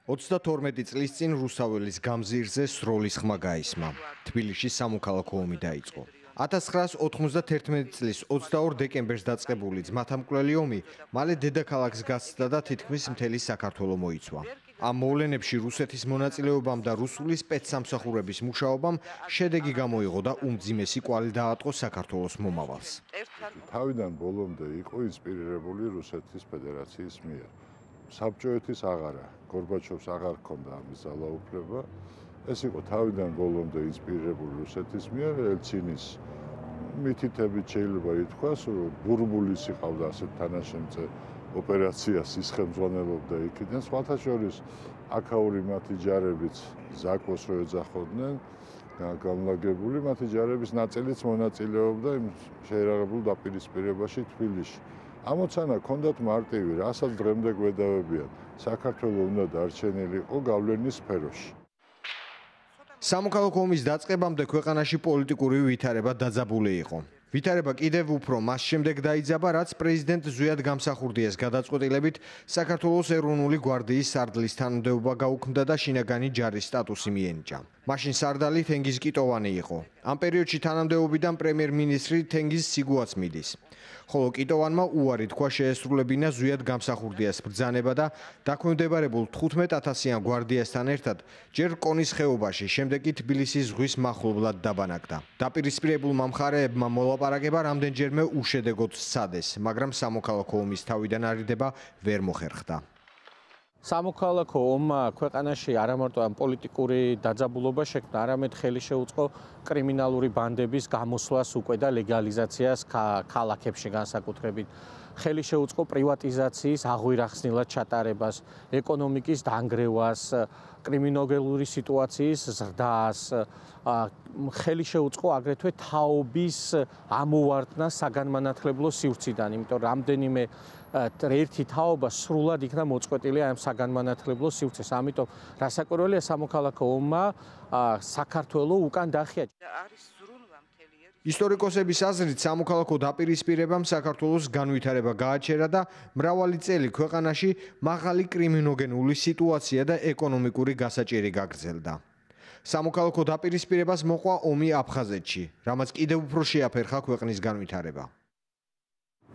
32 წლის წინ რუსაველის გამზირზე სროლის ხმა გაისმა. თბილისში სამოქალაქო ომი დაიწყო. 1991 წლის 22 დეკემბერს დაწყებული ძმათამკვლელი ომი მალე დედაქალაქს გასცდა და თითქმის მთელი საქართველო მოიცვა. ამ მოვლენებში რუსეთის მონაწილეობამ და რუსული სპეცსამსახურების მუშაობამ შედეგი გამოიღო და უმძიმესი კვალი დაატყო საქართველოს მომავალს. თავიდან ბოლომდე იყო ინსპირირებული რუსეთის ფედერაციის მიერ. საბჭოეთის აღარა, გორბაჩოვს აღარ ჰქონდა ამის ძალაუფლება. ეს იყო თავიდან ბოლომდე ინსპირირებული რუსეთის მიერ, ელცინის მითითებით შეიძლება ითქვას, ბურბულის იყავდა ასეთ თანაშემწე ოპერაციას ის ხელმძღვანელობდა იქიდან, სხვათა შორის აქაური მათი ჯარებიც ზაკოს რო ეძახოდნენ, განლაგებული მათი ჯარების ნაწილიც მონაწილეობდა იმ შეერაღებულ დაპირისპირებაში თბილისში. ამოცანა ჰქონდათ მარტივი, რასაც დღემდე გვედავებიან, საქართველოს უნდა დარჩენილიყო გავლენის სფეროში. სამოქალაქო ომის დაწყებამდე ქვეყანაში პოლიტიკური ვითარება დაძაბული იყო. ვითარება კიდევ უფრო მას შემდეგ დაიძაბა, რაც პრეზიდენტ ზვიად გამსახურდიას გადაწყვეტილებით საქართველოს ეროვნული გვარდიის სარდლის თანამდებობა გაუქმდა და შინაგანი ჯარის სტატუსი მიენიჭა. მაშინ სარდალი თენგიზ კიტოვანი იყო. ამ პერიოდში თანამდებობიდან პრემიერ-მინისტრი თენგიზ სიგუაც მიდის. ხოლო კიტოვანმა უარი თქვა შეესრულებინა ზვიად გამსახურდიას ბრძანება და დაქვემდებარებულ 15,000-იან გვარდიასთან ერთად ჯერ კონის ხეობაში, შემდეგ კი თბილისის ზღვის მახლობლად დაბანაკდა. დაპირისპირებულმა მხარეებმა მოლაპარაკება რამდენჯერმე უშედეგოდ სცადეს, მაგრამ სამოქალაქო ომის თავიდან არიდება ვერ მოხერხდა. სამოქალაქო ომმა ქვეყანაში არა მარტო ამ პოლიტიკური დაძაბულობა შექმნა, არამედ ხელი შეუწყო კრიმინალური ბანდების გამოსვლას უკვე და ლეგალიზაციას ქალაქებში განსაკუთრებით. ხელი შეუწყო პრივატიზაციის აღვირახსნილად ჩატარებას, ეკონომიკის დანგრევას, კრიმინოგენური სიტუაციის ზრდას, ხელი შეუწყო აგრეთვე თაობის ამოვარდნას საგანმანათლებლო სივრციდან, იმიტომ რომ რამდენიმე ერთი თაობა სრულად იქნა მოწყვეტილი ამ საგანმანათლებლო სივრცეს. ამიტომ რასაკვირველია სამოქალაქო ომმა საქართველოს უკან დახია. ისტორიკოსების აზრით სამოქალაქო დაპირისპირებამ საქართველოს განვითარება გააჩერა და მრავალი წელი ქვეყანაში მაღალი კრიმინოგენული სიტუაცია და ეკონომიკური გასაჭირი გაგრძელდა. სამოქალაქო დაპირისპირებას მოყვა ომი აფხაზეთში, რამაც კიდევ უფრო შეაფერხა ქვეყნის განვითარება.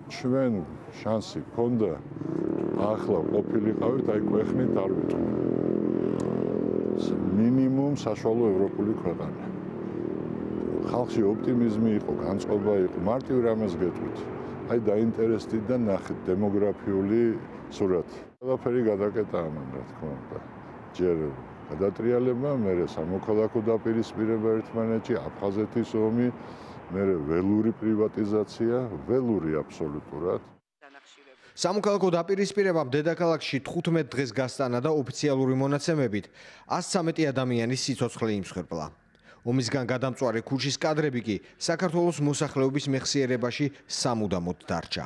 ჩვენ შანსი ჰქონდა ახლა ყოფილიყავით, აი ქვეყნით არ ვიტყვი. მინიმუმ საშუალო ევროპული ქვეყანა. ხალხში ოპტიმიზმი იყო, განწყობა იყო, მარტივ რამეს გეტყვით. აი დაინტერესდით და ნახეთ დემოგრაფიული სურათი. ყველაფერი გადაკეტა ამან, რა თქმა უნდა. ჯერ გადატრიალება, მერე სამოქალაქო დაპირისპირება ერთმანეთში, აფხაზეთის ომი, მერე ველური პრივატიზაცია, ველური აბსოლუტურად. სამოქალაქო დაპირისპირებამ დედაქალაქში 15 დღეს გასტანა და ოფიციალური მონაცემებით 113 ადამიანის სიცოცხლე იმსხვერპლა. ომისგან გადამწვარი ქუჩის კადრები კი საქართველოს მოსახლეობის მეხსიერებაში სამუდამოდ დარჩა.